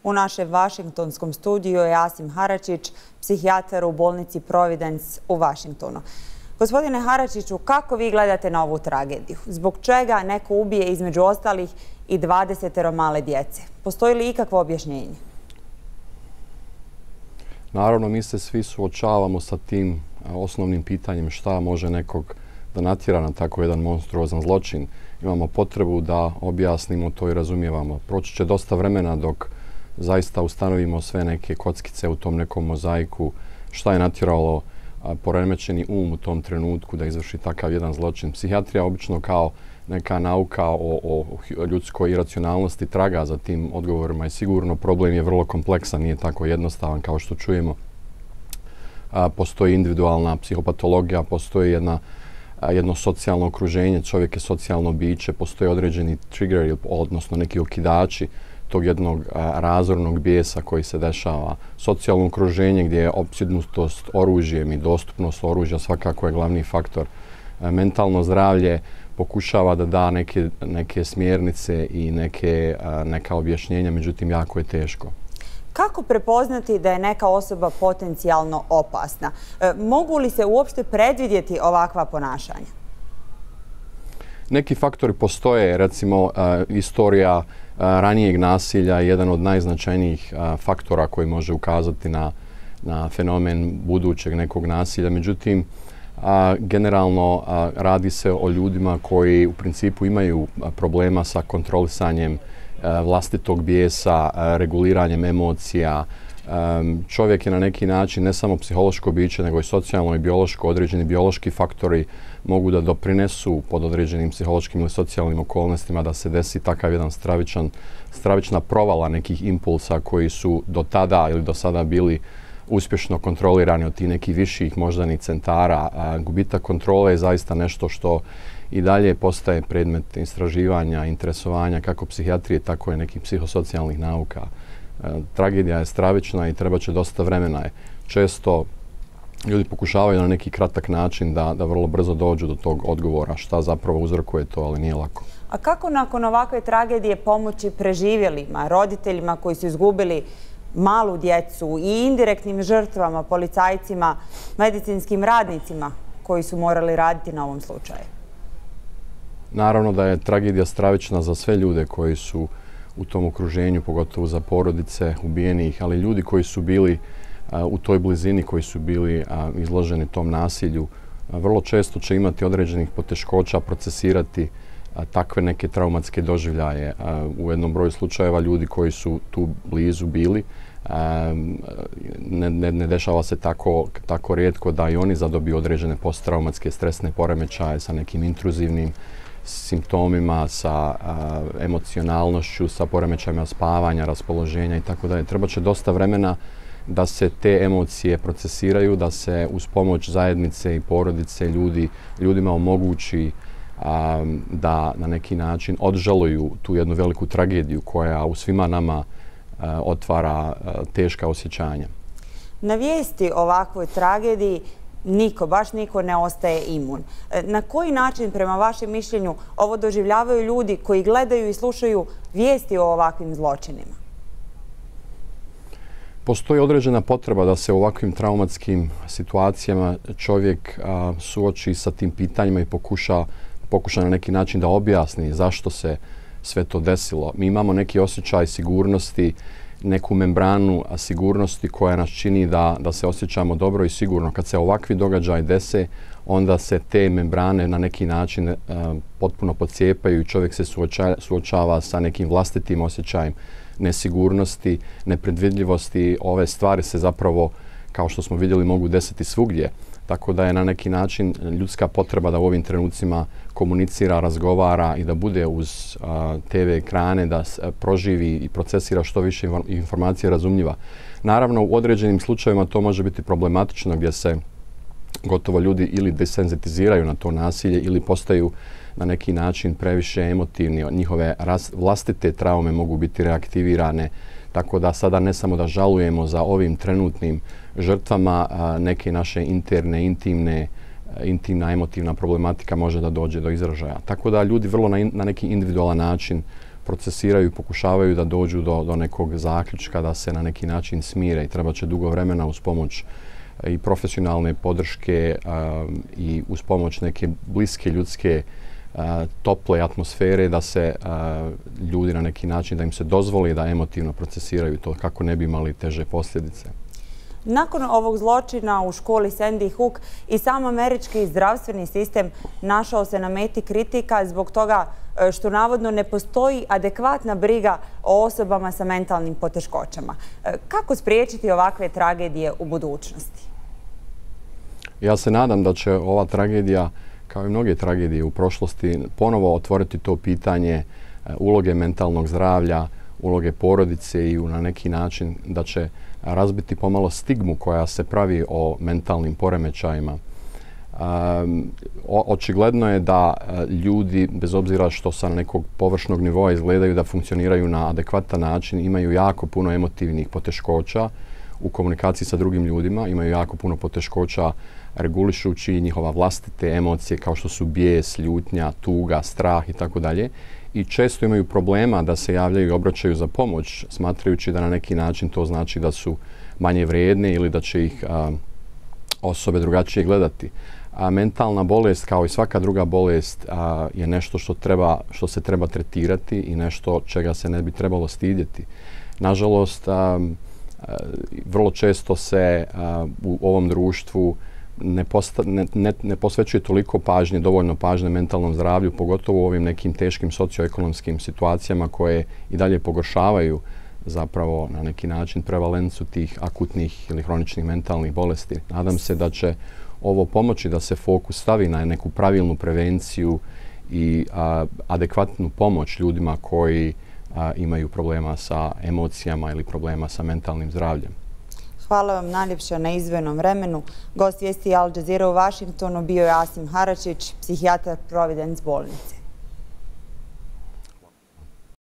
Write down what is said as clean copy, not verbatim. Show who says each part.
Speaker 1: U našem vašingtonskom studiju je Asim Haračić, psihijatar u bolnici Providence u Vašingtonu. Gospodine Haračiću, kako vi gledate na ovu tragediju? Zbog čega neko ubije između ostalih i 20 male djece? Postoji li ikakvo objašnjenje?
Speaker 2: Naravno, mi se svi suočavamo sa tim osnovnim pitanjem šta može nekog da natjera na tako jedan monstruozan zločin. Imamo potrebu da objasnimo to i razumijevamo. Proći će dosta vremena dok zaista ustanovimo sve neke kockice u tom nekom mozaiku, šta je natjeralo poremećeni um u tom trenutku da izvrši takav jedan zločin. Psihijatrija obično kao neka nauka o ljudskoj iracionalnosti traga za tim odgovorima i sigurno problem je vrlo kompleksan, nije tako jednostavan kao što čujemo. Postoji individualna psihopatologija, postoji jedno socijalno okruženje, čovjek je socijalno biće, postoje određeni triggeri, odnosno neki okidači tog jednog razornog bijesa koji se dešava. Socijalno okruženje gdje je opsjednutost oružjem i dostupnost oružja svakako je glavni faktor. Mentalno zdravlje pokušava da da neke smjernice i neka objašnjenja, međutim jako je teško.
Speaker 1: Kako prepoznati da je neka osoba potencijalno opasna? Mogu li se uopšte predvidjeti ovakva ponašanja?
Speaker 2: Neki faktori postoje, recimo istorija ranijeg nasilja je jedan od najznačajnijih faktora koji može ukazati na fenomen budućeg nekog nasilja. Međutim, generalno radi se o ljudima koji u principu imaju problema sa kontrolisanjem vlastitog bijesa, reguliranjem emocija. Čovjek je na neki način ne samo psihološko biće, nego i socijalno i biološko. Određeni biološki faktori mogu da doprinesu pod određenim psihološkim ili socijalnim okolnostima da se desi takav jedan stravična provala nekih impulsa koji su do tada ili do sada bili uspješno kontrolirani od tih nekih viših moždanih centara. Gubitak kontrole je zaista nešto što i dalje postaje predmet istraživanja, interesovanja kako psihijatrije, tako i nekih psihosocijalnih nauka. Tragedija je stravična i treba će dosta vremena. Često ljudi pokušavaju na neki kratak način da vrlo brzo dođu do tog odgovora šta zapravo uzrokuje to, ali nije lako.
Speaker 1: A kako nakon ovakve tragedije pomoći preživjelima, roditeljima koji su izgubili malu djecu i indirektnim žrtvama, policajcima, medicinskim radnicima koji su morali raditi na ovom slučaju?
Speaker 2: Naravno da je tragedija stravična za sve ljude koji su u tom okruženju, pogotovo za porodice ubijenih, ali ljudi koji su bili u toj blizini, koji su bili izloženi tom nasilju, vrlo često će imati određenih poteškoća procesirati takve neke traumatske doživljaje. U jednom broju slučajeva ljudi koji su tu blizu bili, ne dešava se tako rijetko da i oni zadobiju određene posttraumatske stresne poremećaje sa nekim intruzivnim simptomima, sa emocionalnošću, sa poremećajima spavanja, raspoloženja i tako dalje. Treba će dosta vremena da se te emocije procesiraju, da se uz pomoć zajednice i porodice ljudima omogući da na neki način odžaluju tu jednu veliku tragediju koja u svima nama otvara teška osjećanja.
Speaker 1: Na vijesti o ovakvoj tragediji baš niko ne ostaje imun. Na koji način, prema vašem mišljenju, ovo doživljavaju ljudi koji gledaju i slušaju vijesti o ovakvim zločinima?
Speaker 2: Postoji određena potreba da se u ovakvim traumatskim situacijama čovjek suoči sa tim pitanjima i pokuša na neki način da objasni zašto se sve to desilo. Mi imamo neki osjećaj sigurnosti, neku membranu sigurnosti koja nas čini da se osjećamo dobro i sigurno. Kad se ovakvi događaji dese, onda se te membrane na neki način potpuno podcijepaju i čovjek se suočava sa nekim vlastitim osjećajem nesigurnosti, nepredvidljivosti. Ove stvari se zapravo, kao što smo vidjeli, mogu desiti svugdje. Tako da je na neki način ljudska potreba da u ovim trenucima komunicira, razgovara i da bude uz TV ekrane, da proživi i procesira što više informacija razumljiva. Naravno, u određenim slučajevima to može biti problematično gdje se gotovo ljudi ili desenzitiziraju na to nasilje ili postaju na neki način previše emotivni. Njihove vlastite traume mogu biti reaktivirane. Tako da sada ne samo da žalujemo za ovim trenutnim žrtvama, neke naše interne, intimna, emotivna problematika može da dođe do izražaja. Tako da ljudi vrlo na neki individualan način procesiraju i pokušavaju da dođu do nekog zaključka, da se na neki način smire i treba će dugo vremena uz pomoć i profesionalne podrške i uz pomoć neke bliske ljudske tople atmosfere da se ljudi na neki način, da im se dozvoli da emotivno procesiraju to kako ne bi imali teže posljedice.
Speaker 1: Nakon ovog zločina u školi Sandy Hook i sam američki zdravstveni sistem našao se na meti kritika zbog toga što navodno ne postoji adekvatna briga o osobama sa mentalnim poteškoćama. Kako spriječiti ovakve tragedije u budućnosti?
Speaker 2: Ja se nadam da će ova tragedija, kao i mnoge tragedije u prošlosti, ponovo otvoriti to pitanje uloge mentalnog zdravlja, uloge porodice i na neki način da će razbiti pomalo stigmu koja se pravi o mentalnim poremećajima. Očigledno je da ljudi, bez obzira što sa nekog površnog nivoa izgledaju da funkcioniraju na adekvatan način, imaju jako puno emotivnih poteškoća u komunikaciji sa drugim ljudima, imaju jako puno poteškoća regulišući njihova vlastite emocije kao što su bijes, ljutnja, tuga, strah i tako dalje. I često imaju problema da se javljaju i obraćaju za pomoć, smatrajući da na neki način to znači da su manje vrijedne ili da će ih osobe drugačije gledati. Mentalna bolest, kao i svaka druga bolest, je nešto što se treba tretirati i nešto čega se ne bi trebalo stidjeti. Nažalost, vrlo često se u ovom društvu ne posvećuje toliko pažnje, dovoljno pažnje mentalnom zdravlju, pogotovo u ovim nekim teškim socioekonomskim situacijama koje i dalje pogoršavaju zapravo na neki način prevalencu tih akutnih ili hroničnih mentalnih bolesti. Nadam se da će ovo pomoći da se fokus stavi na neku pravilnu prevenciju i adekvatnu pomoć ljudima koji imaju problema sa emocijama ili problema sa mentalnim zdravljem.
Speaker 1: Hvala vam najljepša na izdvojenom vremenu. Gost vijesti Al Jazeera u Vašingtonu bio je Asim Haračić, psihijatar Providence bolnice.